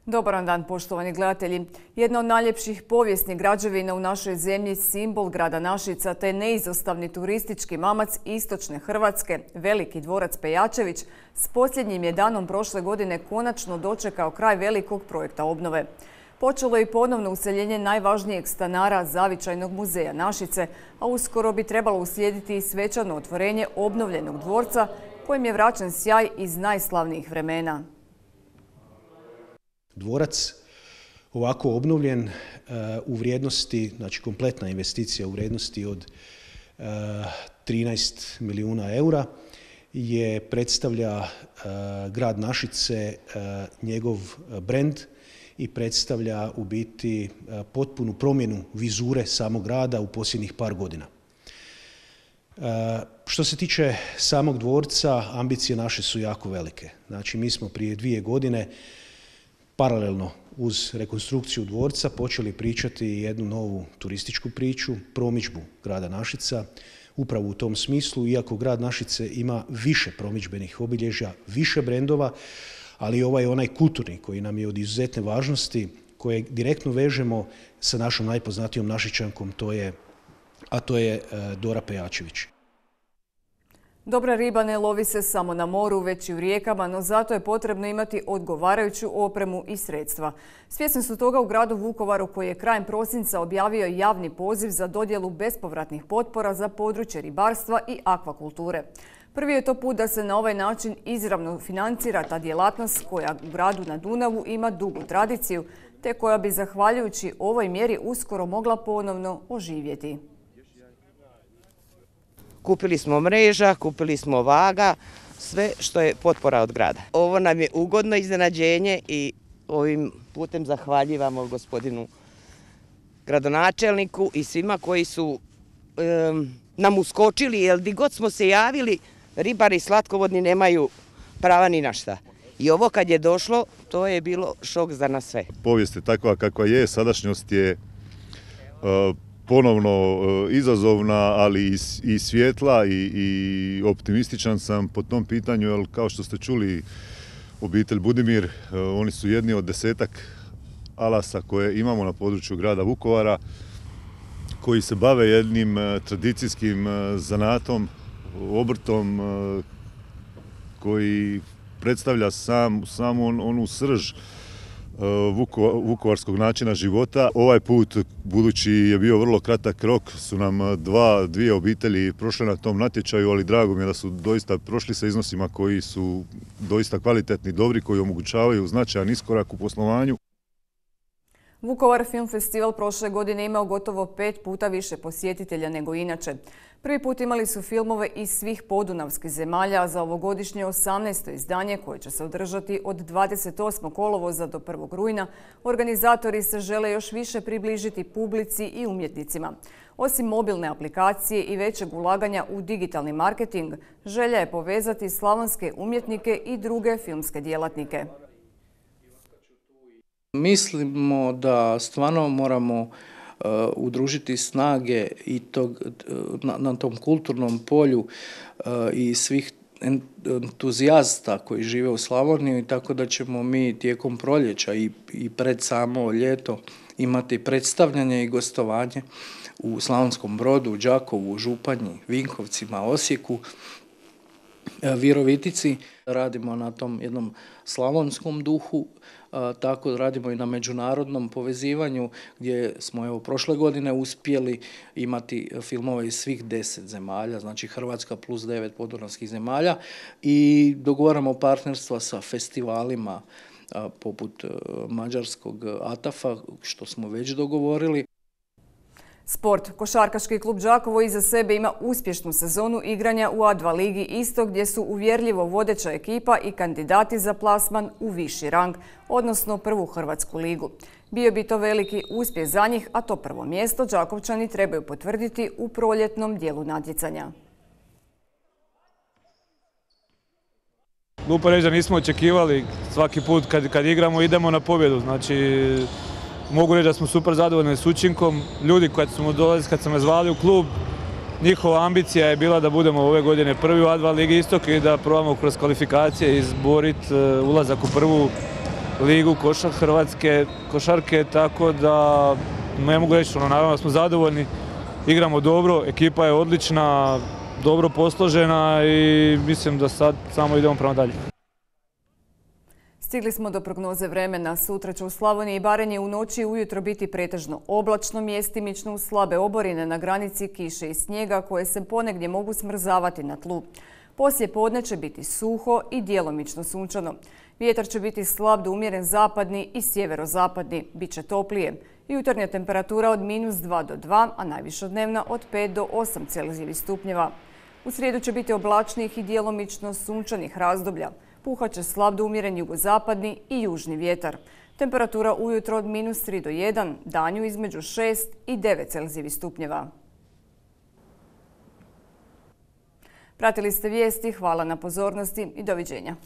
Dobar dan, poštovani gledatelji. Jedna od najljepših povijesnih građevina u našoj zemlji, simbol grada Našica te neizostavni turistički mamac istočne Hrvatske, veliki dvorac Pejačević, s posljednjim je danom prošle godine konačno dočekao kraj velikog projekta obnove. Počelo je i ponovno useljenje najvažnijeg stanara zavičajnog muzeja Našice, a uskoro bi trebalo uslijediti i svečano otvorenje obnovljenog dvorca kojim je vraćen sjaj iz najslavnijih vremena. Dvorac ovako obnovljen u vrijednosti, znači kompletna investicija u vrijednosti od 13 milijuna eura predstavlja grad Našice, njegov brend i predstavlja u biti potpunu promjenu vizure samog grada u posljednjih par godina. Što se tiče samog dvorca, ambicije naše su jako velike. Znači mi smo prije 2 godine paralelno uz rekonstrukciju dvorca počeli pričati jednu novu turističku priču, promidžbu grada Našica. Upravo u tom smislu, iako grad Našice ima više promidžbenih obilježja, više brendova, ali ovaj je onaj kulturni koji nam je od izuzetne važnosti, koje direktno vežemo sa našom najpoznatijom Našičankom, a to je Dora Pejačević. Dobra riba ne lovi se samo na moru, već i u rijekama, no zato je potrebno imati odgovarajuću opremu i sredstva. Svjesni su toga u gradu Vukovaru, koji je krajem prosinca objavio javni poziv za dodjelu bespovratnih potpora za područje ribarstva i akvakulture. Prvi je to put da se na ovaj način izravno financira ta djelatnost koja u gradu na Dunavu ima dugu tradiciju, te koja bi zahvaljujući ovoj mjeri uskoro mogla ponovno oživjeti. Kupili smo mreža, kupili smo vaga, sve što je potpora od grada. Ovo nam je ugodno iznenađenje i ovim putem zahvaljivamo gospodinu gradonačelniku i svima koji su nam uskočili, jer gdje god smo se javili, ribari slatkovodni nemaju prava ni na šta. I ovo kad je došlo, to je bilo šok za nas sve. Povijest je takva kakva je, sadašnjost je ponovno izazovna, ali i svjetla i optimističan sam po tom pitanju, jer kao što ste čuli, obitelj Budimir, oni su jedni od 10-ak alasa koje imamo na području grada Vukovara, koji se bave jednim tradicijskim zanatom, obrtom koji predstavlja samu onu srž vukovarskog načina života. Ovaj put, budući je bio vrlo kratak rok, su nam dvije obitelji prošle na tom natječaju, ali drago mi je da su doista prošli sa iznosima koji su doista kvalitetni, dobri, koji omogućavaju značajan iskorak u poslovanju. Vukovar Film Festival prošle godine imao gotovo 5 puta više posjetitelja nego inače. Prvi put imali su filmove iz svih podunavskih zemalja, a za ovogodišnje 18. izdanje, koje će se održati od 28. kolovoza do 1. rujna, organizatori se žele još više približiti publici i umjetnicima. Osim mobilne aplikacije i većeg ulaganja u digitalni marketing, želja je povezati slavonske umjetnike i druge filmske djelatnike. Mislimo da stvarno moramo udružiti snage i na tom kulturnom polju i svih entuzijasta koji žive u Slavoniji, tako da ćemo mi tijekom proljeća i pred samo ljeto imati predstavljanje i gostovanje u Slavonskom Brodu, Đakovu, Županji, Vinkovcima, Osijeku, Virovitici. Radimo na tom jednom slavonskom duhu, tako radimo i na međunarodnom povezivanju, gdje smo prošle godine uspjeli imati filmove iz svih 10 zemalja, znači Hrvatska plus 9 podunavskih zemalja, i dogovaramo partnerstva sa festivalima poput mađarskog ATAF-a, što smo već dogovorili. Sport. Košarkaški klub Đakovo iza sebe ima uspješnu sezonu igranja u A2 ligi Istok, gdje su uvjerljivo vodeća ekipa i kandidati za plasman u viši rang, odnosno prvu hrvatsku ligu. Bio bi to veliki uspjeh za njih, a to prvo mjesto Đakovčani trebaju potvrditi u proljetnom dijelu natjecanja. Glupo reći da nismo očekivali, svaki put kad igramo idemo na pobjedu, znači mogu reći da smo super zadovoljni s učinkom. Ljudi kad sam me zvali u klub, njihova ambicija je bila da budemo ove godine prvi u A2 ligi Istok i da probamo kroz kvalifikacije izboriti ulazak u prvu ligu Hrvatske košarke, tako da ne mogu reći, naravno da smo zadovoljni, igramo dobro, ekipa je odlična, dobro posložena i mislim da sad samo idemo prema dalje. Stigli smo do prognoze vremena. Sutra će u Slavoniji i Baranji u noći i ujutro biti pretežno oblačno, mjestimično uz slabe oborine na granici kiše i snijega koje se ponegdje mogu smrzavati na tlu. Poslije podne će biti suho i djelomično sunčano. Vjetar će biti slab do umjeren zapadni i sjeverozapadni. Biće toplije. Jutarnja temperatura od -2 do 2, a najviša dnevna od 5 do 8 Celzijevih stupnjeva. U srijedu će biti oblačnih i djelomično sunčanih razdoblja. Puhat će slab do umjeren jugozapadni i južni vjetar. Temperatura ujutro od -3 do 1, danju između 6 i 9 Celzijevih stupnjeva. Pratili ste vijesti, hvala na pozornosti i doviđenja.